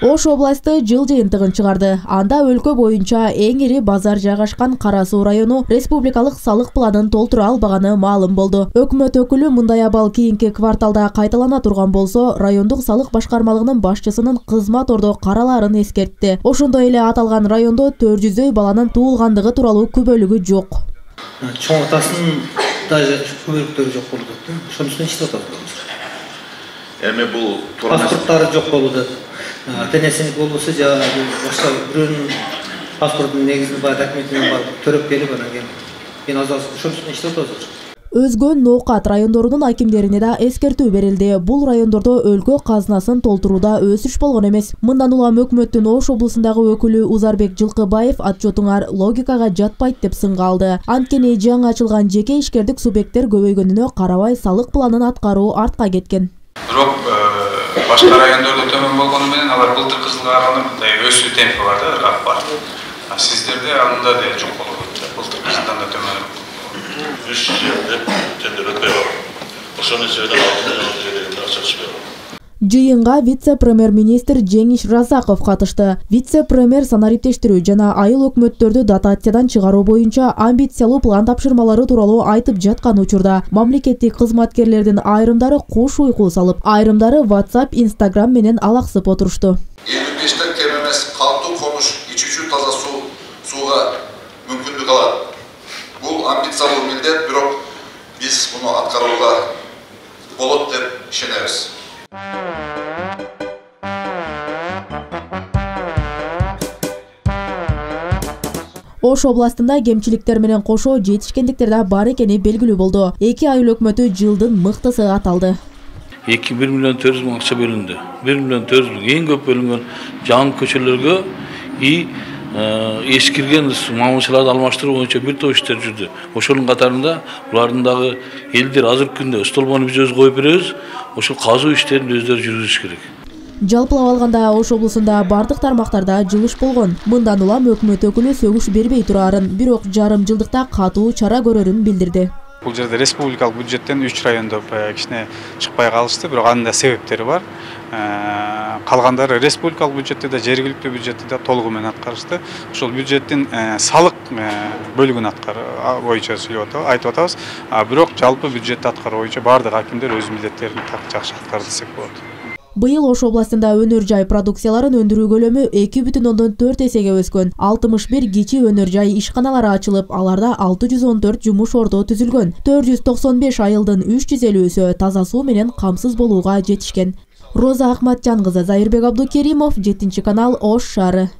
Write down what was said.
Ош областы жыл жыйынтыгын чыгарды. Анда өлкө боюнча эң ири базар жайгашкан Кара Суу району республикалык салык планын толтура албаганы маалым болду. Өкмөт өкүлү мындай абал кийинки кварталда кайталана турган болсо, райондук салык башкармалыгынын башчысынын кызмат ордо каралаарын эскертти. Ошондой эле аталган райондо 400 баланын туулгандыгы тууралуу күбөлүгү жок. Чоң атасын даже күбөлүктөрү жок болуп атты. Ошонун үстүнө иштеп атабыз. Эми бул паспорттары жок болуп атат. Тенесиник болбосо же башка бирөөнүн паспортунун негизинде бар документин барып төрөп келип анан кийин ошонун үстүнө иштеп атабыз. Өзгө Ноокат райондорунун акимдерине да эскертүү берилди. Бул райондордо өлкө казынасын толтурууда өсүш болгон эмес. Мындан улам өкмөттүн Ош облусундагы өкүлү Узарбек Жылкыбаев отчетуңар логикага жатпайт деп сынга алды. Анткени жаңы ачылган жеке ишкердик субъекттер көбөйгөнүнө карабай салык планын аткаруу артка кеткен. Бирок башка райондордо төмөн болгону менен алар былтыркы жылга караганда мындай өсүү темпи бар да, ыргак бар. Сиздерде анда да жок болуп атат. Былтыркы жылдан да төмөн. 300 жерде тендер өтпөй бар. Ошонун себебинен 6 миллион жерде акча түшпөй бар. Жыйынга вице-премьер-министр Жеңиш Разаков катышты. Вице-премьер санариптештирүү жана айыл өкмөттөрдү дотациядан чыгаруу боюнча амбициялуу план тапшырмалары тууралуу айтып жаткан учурда мамлекеттик кызматкерлердин айрымдары куш уйку салып, айрымдары WhatsApp, Instagram менен алаксып отурушту. 55-тен кем эмес калктуу комуш, ичүүчү таза сууга мүмкүндүк алат. Бул амбициялуу милдет, бирок биз муну аткарууга болот деп ишенебиз. Ош областында кемчиликтер менен кошо жетишкендиктер да бар экени белгилүү болду. Эки айыл өкмөтү жылдын мыктысы аталды. 1 миллион 400 миң акча бөлүндү. 1 миллион 400 миң эң көп бөлүнгөн жаңы көчөлөргө эскирген мамышаларды алмаштыруу боюнча бир топ иштер жүрдү. Ошонун катарында булардын дагы элдер азыркы күндө столбону биз өзү коюп беребиз. Ошол казуу иштерин өздөрү жүргүзүш керек. Жалпылап алганда Ош облусунда бардык тармактарда жылыш болгон. Мындан улам өкмөт өкүлү сөгүш бербей турарын, бирок жарым жылдыкта катуу чара көрөрүн билдирди. Бул жерде республикалык бюджеттен 3 райондо кичине чыкпай калышты, бирок анын да себептери бар. Калгандары республикалык бюджетте да, жергиликтүү бюджетте да толугу менен аткарышты. Ошол бюджеттин салык бөлүгүн аткаруу боюнча айтып атабыз. Бирок жалпы бюджетти аткаруу боюнча бардык акимдер өз милдеттерин жакшы аткарды десек болот. Быйыл Ош областында өнөр жай продукцияларын өндүрүү көлөмү 2,4 эсеге өскөн. 61 кичи өнөр жай ишканалары ачылып, аларда 614 жумуш ордо түзүлгөн. 495 айылдын 350-сү таза суу менен камсыз болууга жетишкен. Роза Акматжан кызы, Зайырбек Абдукеримов, 7 канал, Ош шаары.